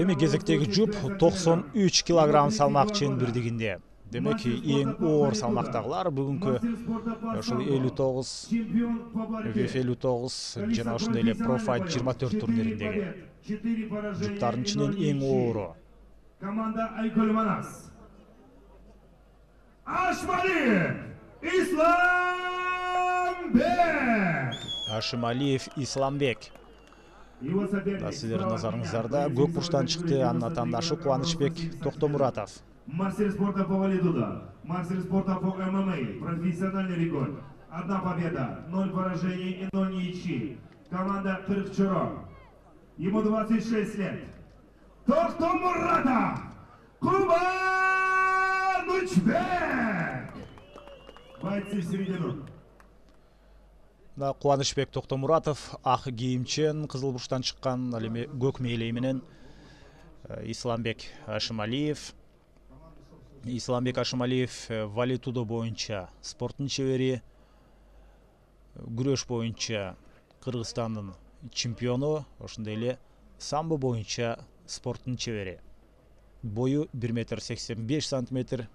Эми кезектеги жұп 93 килограмм салмак чембирдигинде. Демек, эң оор салмактагылар бүгүнкү ошол 59, ВФ 59 жана ошондой эле Профайт 24 турнириндеги жұптардын ичинен эң оору. Команда Айкөл Манас. Ашмалиев Исламбек. Ашмалиев Исламбек. Сиздердин назарыңыздарда көк бурчтан чыкты, анын атаандашы Кубанычбек Токтомуратов. Мастер спорта по валидуда, мастер спорта по ММА, профессиональный рекорд. 1 победа, 0 поражений и 0 ничьи. Команда Кыркчоро. Ему 26 лет. Токтомуратов Кубанычбек. Бойцы в середину. Кубанычбек Токтомуратов ак кийимчен, кызыл бурчтан чыккан, ал эми көк мээлей менен Исламбек Ашмалиев. Исламбек Ашмалиев валидудо боюнча спорттун чебери, күрөш боюнча Кыргызстандын чемпиону, ошондой эле самбо боюнча спорттун чебери. Бою 1,85 метр.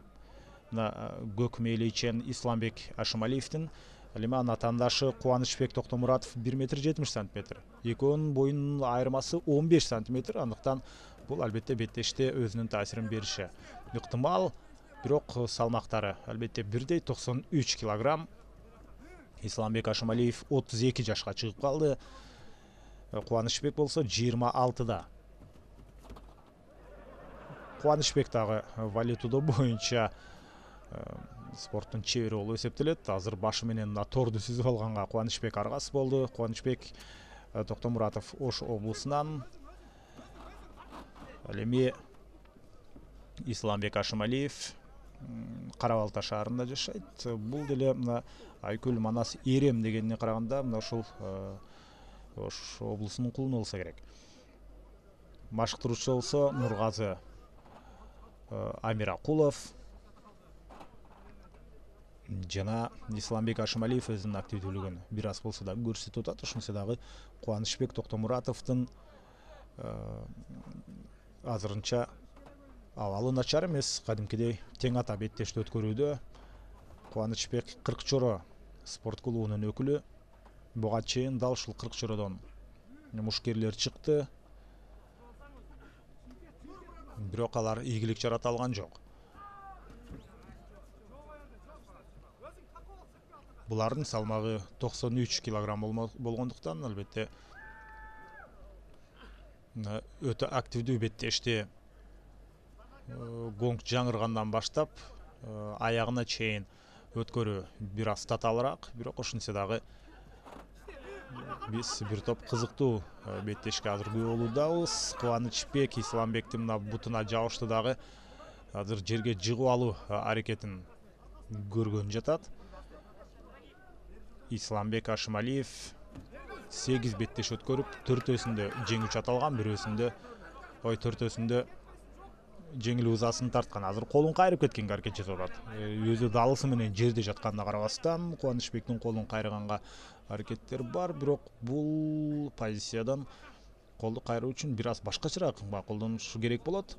Көк мээлейчен Исламбек Ашмалиевдин, ал эми анын атаандашы Кубанычбек Токтомуратов 1,70 метр. Экөөнүн боюнун айырмасы 15 сантиметр. Андыктан бул албетте беттеште өзүнүн таасирин бериши ыктымал. Бирок салмактары албетте бирдей 93 килограмм. Исламбек Ашмалиев 32 жашка чыгып калды. Кубанычбек болсо 26да. Кубанычбек дагы валидудо боюнча спорттун чебери болуп эсептелет. Азыр башы менен торду сүзүп алганга Кубанычбек аргасы болду. Кубанычбек Токтомуратов Ош облусунан. Ал эми Исламбек Ашмалиев Кара Балта шаарында жашайт. Бул деле мына Айкөл Манас Эрем дегенине караганда мына ушул Ош облусунун кулуну болсо керек. Машыктыруучу болсо Нургазы Амиракулов жана Исламбек Ашмалиев өзүнүн активдүүлүгүн бир аз болсо да көрсөтүп атат. Ошонсо дагы Кубанычбек Токтомуратовдун азырынча абалы начар эмес, кадимкидей тең ата беттешти өткөрүүдө. Кубанычбек Кыркчоро спорт клубунун өкүлү. Буга чейин дал ушул Кыркчородон мушкерлер чыкты. Бирок алар ийгилик жарата алган жок. Булардын салмагы 93 килограмм болгондуктан албетте өтө активдүү беттешти гонг жаңыргандан баштап аягына чейин өткөрүү бир аз татаалыраак. Бирок ошентсе дагы биз бир топ кызыктуу беттешке азыр күбө болуудабыз. Кубанычбек Исламбектин мына бутуна жабышты дагы азыр жерге жыгып алуу аракетин көргөн жатат. Исламбек Ашмалиев 8 беттеш өткөрүп, 4-өсүндө жеңүүчү аталган, төртөөсүндө жеңил узасын тарткан. Азыр колун кайрып кеткенге аракет жасап атат. Өзү далысы менен жерде жатканына карабастан Кубанычбектин колун кайрганга аракеттер бар, бирок бул позициядан колду кайруу үчүн бир аз башкачараак колдонушу керек болот.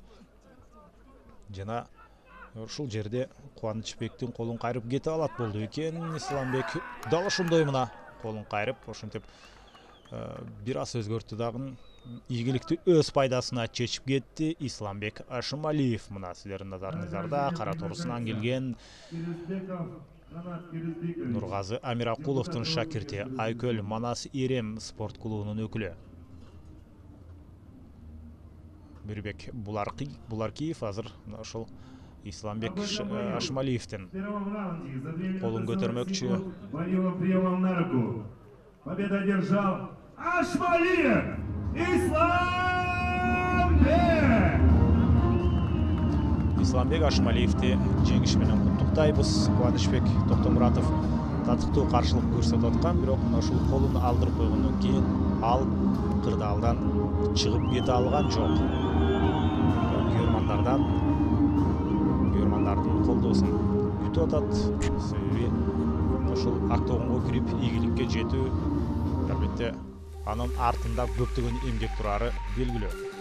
Жана ушул жерде Кубанычбектин колун кайрып кетип алат болду экен. Исламбек дал ошондой мына колун кайрып, ошентип бир аз өзгөртү дагы ийгиликти өз пайдасына чечип кетти. Исламбек Ашмалиев мына сиздердин назарыңыздарда кара торусунан келген Нургазы Амиракуловдун шакирти, Айкөл Манас Эрем спорт клубунун өкүлү. Мирбек Буларкиев азыр ошол Исламбек Ашмалиевдин колун көтөрмөкчү. Победа одержал Ашмалиев Исламбек. Исламбек Ашмалиевди жеңиш менен куттуктайбыз. Кубанычбек Токтомуратов татыктуу каршылык көрсөтүп аткан, бирок ушул колун алдырып койгондон кийин ал кырдаалдан чыгып кете алган жок. Күйөрмандардын колдоосун күтүп атат. Себеби ошол октогонго кирип ийгиликке жетүү албетте Анын артында көптөгөн эмгек турары белгилүү.